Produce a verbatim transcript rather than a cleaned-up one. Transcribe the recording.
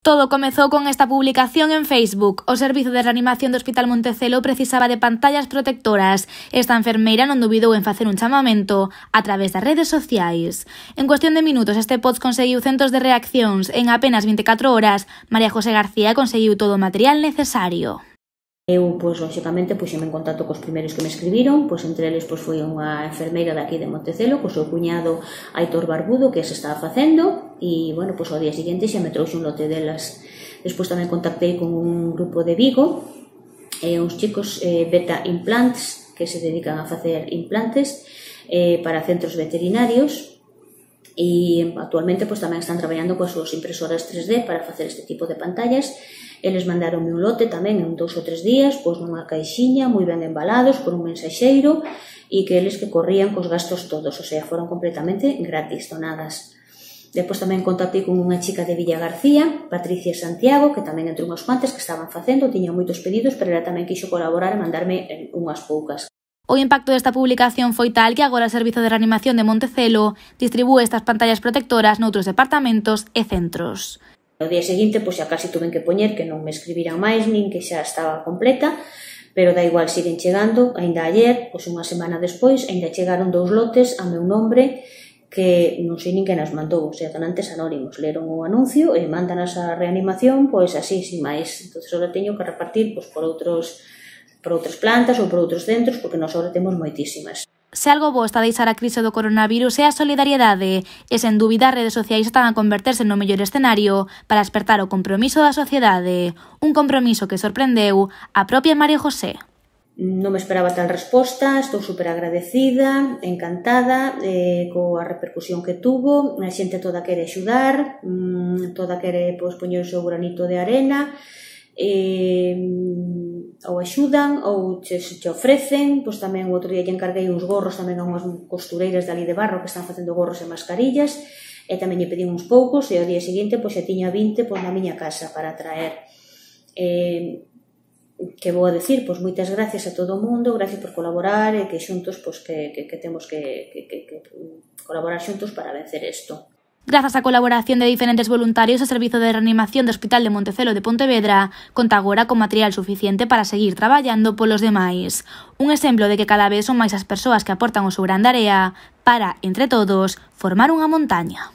Todo comezou con esta publicación en Facebook. O Servizo de Reanimación do Hospital Montecelo precisaba de pantallas protectoras. Esta enfermeira non dubidou en facer un chamamento a través das redes sociais. En cuestión de minutos, este post conseguiu centos de reaccións. En apenas vinte e catro horas, María José García conseguiu todo o material necesario. Eu, pois, lóxicamente, puxeme en contacto cos primeiros que me escribiron, pois entre eles pois, foi unha enfermeira daqui de Montecelo, co seu cuñado Aitor Barbudo, que se estaba facendo, e, bueno, pois ao día seguinte xa me trouxe un lote delas. Despois tamén contactei con un grupo de Vigo, eh, uns chicos eh, Beta Implants, que se dedican a facer implantes eh, para centros veterinarios, e actualmente pois, tamén están traballando coas súas impresoras tres D para facer este tipo de pantallas. Eles mandaronme un lote tamén en dous ou tres días, pois nunha caixiña, moi ben embalados, por un mensaxeiro, e que eles que corrían cos gastos todos, o sea, foron completamente gratis, donadas. Depois tamén contactei con unha chica de Villa García, Patricia Santiago, que tamén entre unhas cuantas que estaban facendo, tiña moitos pedidos, pero ela tamén quixo colaborar e mandarme unhas poucas. O impacto desta publicación foi tal que agora o Servizo de Reanimación de Montecelo distribúe estas pantallas protectoras noutros departamentos e centros. O día seguinte, pois xa casi tuven que poñer que non me escribiran máis, nin que xa estaba completa, pero da igual, siguen chegando. Ainda ayer, pois unha semana despois, ainda chegaron dous lotes a meu nombre que non sei nin quen as mandou, o sea, donantes anónimos. Leron o anuncio e mandanas a reanimación, pois así, sin máis. Entón, agora teño que repartir pois, por outros por outras plantas ou por outros centros, porque nós agora temos moitísimas. Se algo bo está a deixar a crise do coronavirus é a solidariedade, e sen dúbida as redes sociais están a converterse no mellor escenario para despertar o compromiso da sociedade, un compromiso que sorprendeu a propia María José. Non me esperaba tal resposta, estou super agradecida, encantada eh, coa repercusión que tuvo, a xente toda quere axudar, mmm, toda quere pois, poñer o seu granito de arena, e ou axudan ou che, che ofrecen. Pois tamén o outro día lle encarguei uns gorros tamén a unhas costureiras de ali de Barro que están facendo gorros e mascarillas, e tamén lle pedín uns poucos, e ao día seguinte pois xa tiña vinte pois, na miña casa para traer. Eh, que vou a decir, pois moitas gracias a todo o mundo, gracias por colaborar, e que xuntos pois, que, que, que temos que, que, que, que colaborar xuntos para vencer isto. Grazas á colaboración de diferentes voluntarios, o Servizo de Reanimación do Hospital de Montecelo de Pontevedra conta agora con material suficiente para seguir traballando polos demais. Un exemplo de que cada vez son máis as persoas que aportan o seu grande area para, entre todos, formar unha montaña.